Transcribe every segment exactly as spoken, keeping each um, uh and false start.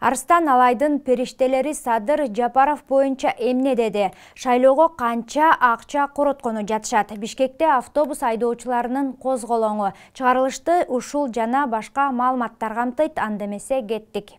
Арстан Алайдын периштелери Садыр Жапаров боюнча эмне деди? Шайлоого канча акча короткону жатышат? Бишкекте автобус айдоочуларынын козголоңу чыгарылышты. Ушул жана башка маалыматтар камтыйт. Анда эмесе кеттик.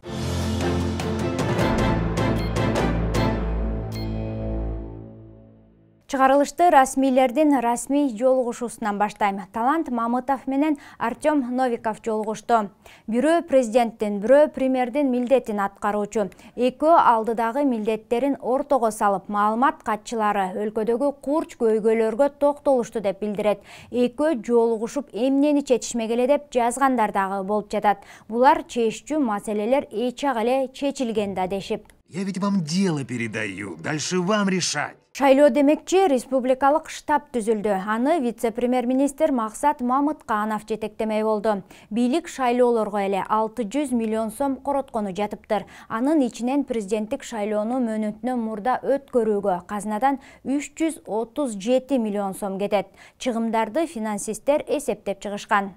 Чыгарылышты расмийлердин расмий жолугушуусунан баштайм. Талант Мамытов менен Артем Новиков жолугушту. Бирөө президенттин, бирөө премьердин милдетин аткаруучу. Экөө алдыдагы милдеттерин ортого салып, маалымат катчылары өлкөдөгү курч көйгөйлөргө токтолушту деп билдирет. Экөө жолугушуп эмнени чечишмегеле деп жазгандар дагы болуп жатат. Булар чечүүчү маселелер эч ак эле чечилген да дешип. Я ведь вам дело передаю, дальше вам решать. Шайлоо демекчи республикалык штаб түзүлдү. Аны вице-премьер-министр Максат Мамытканов жетектемей болду. Бийлик шайлоолорго эле алты жүз миллион сом короткону жатыптыр. Анын ичинен президенттик шайлоону мөөнөтүнөн мурда өткөрүүгө казынадан үч жүз отуз жети миллион сом кетет. Чыгымдарды финансисттер эсептеп чыгышкан.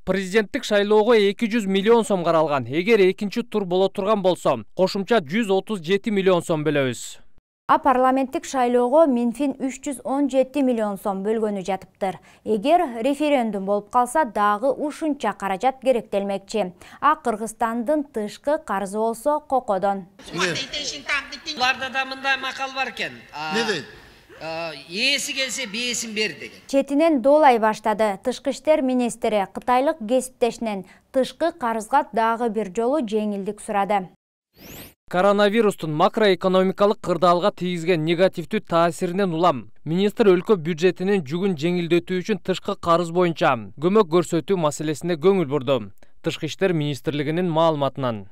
Президенттик шайлоого эки жүз миллион сом каралган. Эгер экинчи тур боло турган болсо, кошумча жүз отуз жети миллион сом бөлөбүз. А парламенттик шайлоого Минфин үч жүз он жети миллион сом бөлгөнү жатыптыр. Эгер референдум болуп калса, дагы ушунча каражат керектелмекчи. А Кыргызстандын тышкы карызы болсо кокодон. Буларда да мындай макал бар экен. Не дейт? Ээси келсе бээсин бер деген. Четинен доолай баштады. Тышкы иштер министри кытайлык кесиптешинен тышкы карызга дагы бир жолу жеңилдик сурады. Коронавирустун макроэкономикалык кырдаалга тийгизген негативдүү таасиринен улам министр өлкө бюджетинин жүгүн жеңилдетүү үчүн тышкы карыз боюнча көмөк көрсөтүү маселесине көңүл бурду. Тышкы иштер министрлигинин маалыматынан.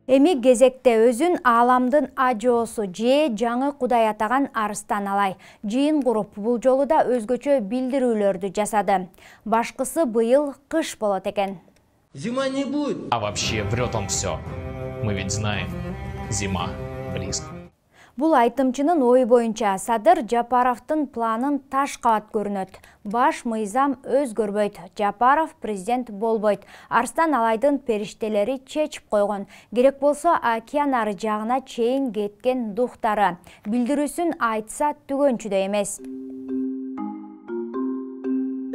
Эми кезекте өзүн ааламдын ажоосу же жаңы кудай атаган Арстан Алай жыйын куруп, бул жолу да өзгөчө билдирүүлөрдү жасады. Башкысы быйыл кыш болот экен. Зима не будет. А вообще врет он все. Мы ведь знаем, зима близко. Бул айтымчынын ою боюнча Садыр Жапаровдун планын таш кабат көрүнөт. Баш мыйзам өзгөрбөйт. Жапаров президент болбойт. Арстан Алайдын периштелери чечип койгон. Керек болсо океан ары жагына чейин кеткен духтары. Билдирүүсүн айтса түгөнчүдөй эмес.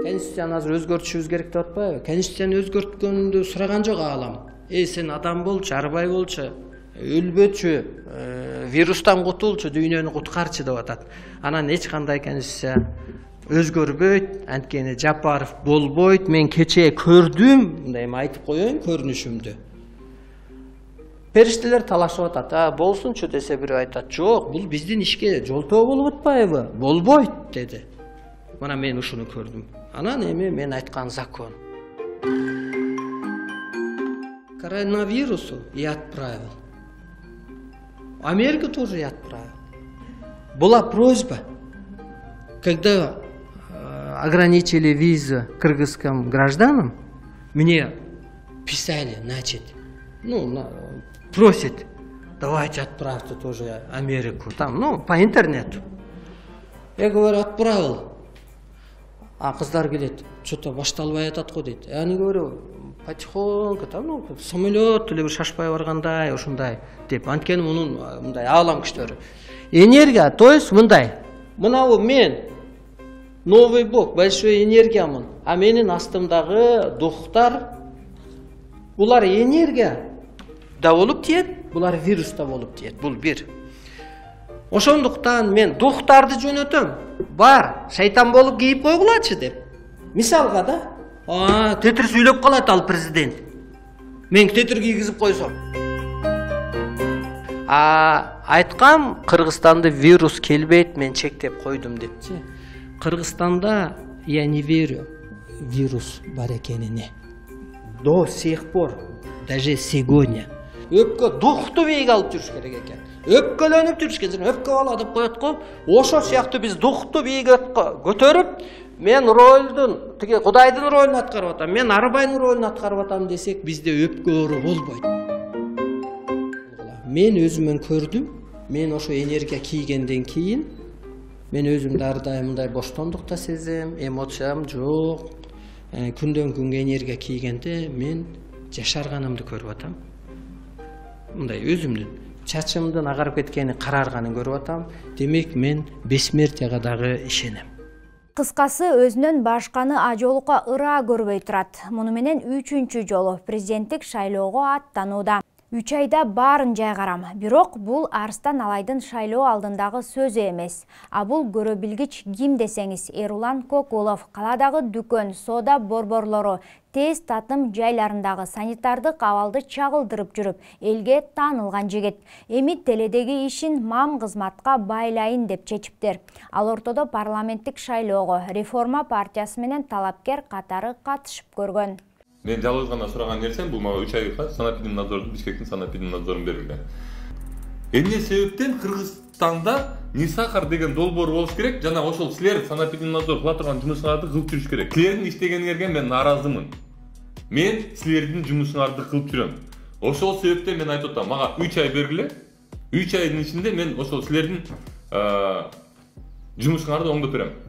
Конституцияны азыр өзгөртүшүбүз керек деп атпайбы? Конституцияны өзгөрткөндү сураган жок аалам. Эй, сен адам болчу, арбай болчу, өлбөчү, вирустан кутулчу, дүйнөнү куткарчы деп атат. Анан эч кандай конституция өзгөрбөйт, анткени Жапаров болбойт. Мен кечээ көрдүм, мындай айтып коеюн көрүнүшүмдү. Периштелер талашып атат. А, болсунчу десе бирөө айтат. Жок, бул биздин ишке жолтоо болуп атпайбы? Болбойт деди. Мына мен ушуну көрдүм. Анан эми мен айткан закон. Коронавирусу я отправил. Америка тоже я отправил. Была просьба, когда э, ограничили визы кыргызским гражданам, мне писали, значит, ну, на, просят, давайте отправьте тоже Америку, там, ну, по интернету. Я говорю, отправил. А кыздар келет, что-то башталбай атат го дейт. Я не говорю, потихоньку, там, ну, самолет или шашпай баргандай, ушундай деп. Анткени мунун мындай аалам күчтөрү. Энергия, то есть мындай. Мынау мен новый бог, большой энергиямын. А менин астымдагы духтар, булар энергия да болуп тиет, булар вирус да болуп тиет. Бул бир. Ошондуктан мен духтарды жөнөтөм. Бар, шайтан болуп кийип койгулачы деп. Мисалга да, а, тетир сүйлөп калат ал президент. Мен тетир кийгизип койсом. А айткам, Кыргызстанда вирус келбейт, мен чектеп койдум депчи. Кыргызстанда я не верю вирус бар экенине. До сих пор, даже сегодня. Өпкө духту бейге алып жүрүш керек экен. Өпкөлөнүп жүрүш керек. Өпкө бала деп коет го. Ошо сыяктуу биз духту бейге көтөрүп, мен ролдун, тиги Кудайдын ролун аткарып атам, мен арбайдын ролун аткарып атам десек, бизде өпкө оору болбойт. Мен өзүмөн көрдүм. Мен ошо энергия кийгенден кийин Мен өзүмдү ар дайым мындай боштондукта сезем, эмоциям жок. Күндөн күнгө энергия кийгенде мен жашарганымды көрүп атам. Мындай өзүмдүн чачымдын агарып кеткени, карарганын көрүп атам. Демек мен бессмертияга дагы ишенем. Кыскасы, өзүнөн башканы ажолукка ыраа көрбөй турат. Муну менен үчүнчү жолу президенттик шайлоого аттанууда. Үч айда баарын жайгарам. Бирок бул Арстан Алайдын шайлоо алдындагы сөзү эмес. А бул көрө билгич ким десеңиз, Эрулан Кокулов каладагы дүкөн, соода борборлору, тез татым жайларындагы санитардык абалды чагылдырып жүрүп, элге таанылган жигит. Эми теледеги ишин мам кызматка байлайын деп чечиптир. Ал ортодо парламенттик шайлоого Реформа партиясы менен талапкер катары катышып көргөн. Мен жалгыз гана сураган нерсем бул мага үч айга санэпидемнадзордун Бишкектин санэпидемнадзорун берилген. Эмне себептен Кыргызстанда Нисахар деген долбоор болуш керек, жана ошол силер санэпидемнадзор кыла турган жумушуңарды кылып жүрүш керек. Силердин иштегениңерге мен нааразымын. Мен силердин жумушуңарды кылып жүрөм. Ошол себептен мен айтып атам, мага үч ай бергиле. үч айдын ичинде мен ошол силердин жумушуңарды оңдоп берем.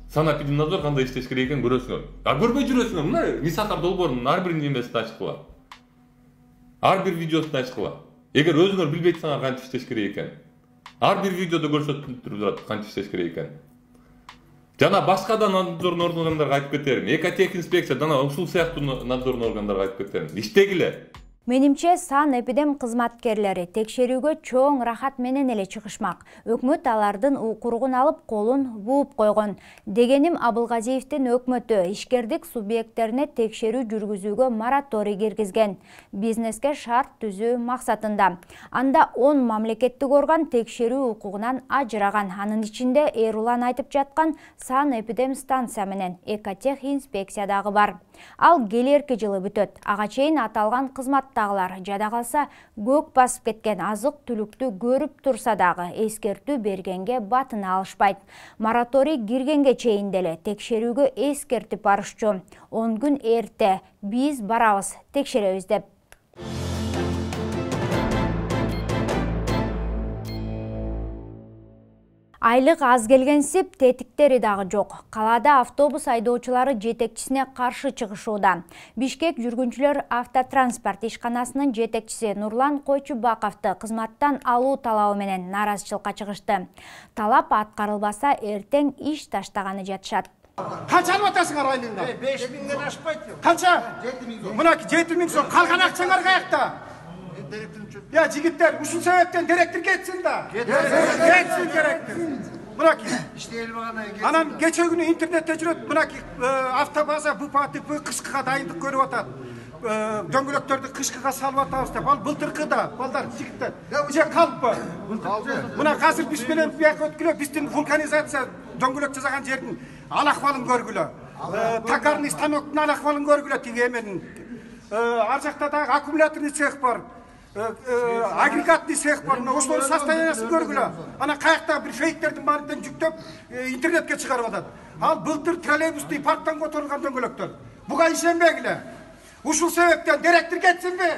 Санэпидемнадзор кандай иштеш керек экенин көрөсүңөр. А көрбөй жүрөсүңөр. Мына Нисахар долбоорунун ар бир немесин ачкыла. Ар бир видеосун ачкыла. Эгер өзүңөр билбейсиңер кантип иштеш керек экенин. Ар бир видеодо көрсөтүп турат кантип иштеш керек экенин. Жана башка да надзордун органдарга айтып кетерим. Экотехинспекция жана ушул сыяктуу надзордун органдарга айтып кетерим. Иштегиле. Менимче санэпидем кызматкерлери текшерүүгө чоң рахат менен эле чыгышмак. Өкмөт алардын укуругун алып колун бууп койгон. Дегеним, Абылгазиевдин өкмөтү ишкердик субъекттерине текшерүү жүргүзүүгө мораторий киргизген. Бизнеске шарт түзүү максатында. Анда он мамлекеттик орган текшерүү укугунан ажыраган. Анын ичинде Эрулан айтып жаткан санэпидем станция менен экотех инспекция дагы бар. Ал келерки жылы бүтөт. Ага чейин аталган кызматтагылар жада калса көк басып кеткен азык түлүктү көрүп турса дагы эскертүү бергенге батына алышпайт. Мораторий киргенге чейин деле текшерүүгө эскертип барышчу. он күн эрте биз барабыз, текшеребиз деп. Айлык аз келгенсип, тетиктери дагы жок. Калада автобус айдоочулары жетекчисине каршы чыгышууда. Бишкек жүргүнчүлөр автотранспорт ишканасынын жетекчиси Нурлан Койчубаковду кызматтан алуу талабы менен нааразычылыкка чыгышты. Талап аткарылбаса эртең иш таштаганы жатышат. Канча алып атасыңар айлыгыңа? беш миңден ашпайт. Канча? Мына жети миң сом. Калган акчаңар каякта? Ya жигиттер, ушул себептен директор кетсин да. Кетсин директор. Мынаки. İşte Анан кече күнү интернетте жүрөт, мынаки автобаза БУПАТП кышкыга дайындык көрүп атат. Дөңгөлөктөрдү кышкыга салып атабыз деп. Ал былтыркы да, балдар, жигиттер. Же калппы? Мына азыр биз менен бияка өткүлө, биздин вулканизация дөңгөлөк жасаган жердин ал акыбалын көргүлө. Токарный станоктун ал акыбалын көргүлө тиги эменин. Ар жакта дагы аккумуляторный цех бар. Агрегатный цех бар, ошолор состояниясын көргүлө. Ана каякта бир фейктердин баарын жүктөп интернетке чыгарып атат. Ал былтыр троллейбусты парктан которгон дөңгөлөктөр. Буга ишенбегиле. Ушул себептен директор кетсинби?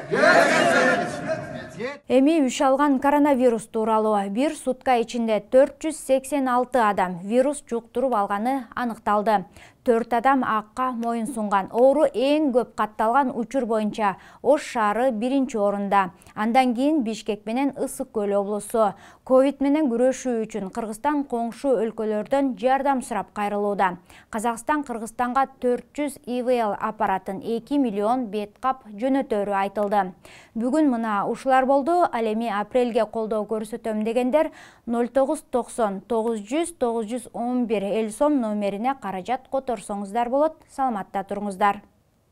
Эми үч алган коронавирус тууралуу бир сутка ичинде төрт жүз сексен алты адам вирус жуктуруп алганы аныкталды. төрт адам акка моюн сунган. Оору эң көп катталган учур боюнча Ош шаары биринчи орунда. Андан кийин Бишкек менен Ысык көл облусу. Ковид менен күрөшүү үчүн Кыргызстан коңшу өлкөлөрдөн жардам сурап кайрылууда. Казакстан Кыргызстанга төрт жүз И В Л аппаратын эки миллион бет кап жөнөтөрү айтылды. Бүгүн мына ушулар болду. Ал эми апрелге колдоо көрсөтөм дегендер ноль тогуз токсон тогуз жүз тогуз жүз он бир эл сом номерине каражат которсоңуздар болот. Саламатта туруңуздар.